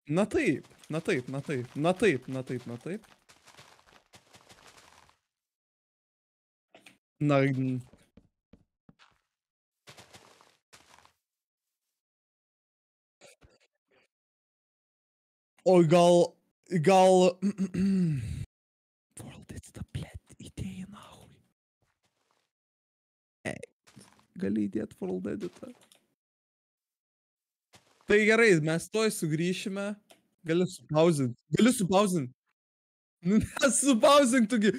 Na taip, na taip, na taip, na taip, na taip, na taip. Na, oi gal World it's the блядь, idėja nahui. Gali įdėt World editą. Tai gerai, mes tuoj sugrįšime. Gali supauzint. Gali supauzint. Nu nesupauzink tu gi.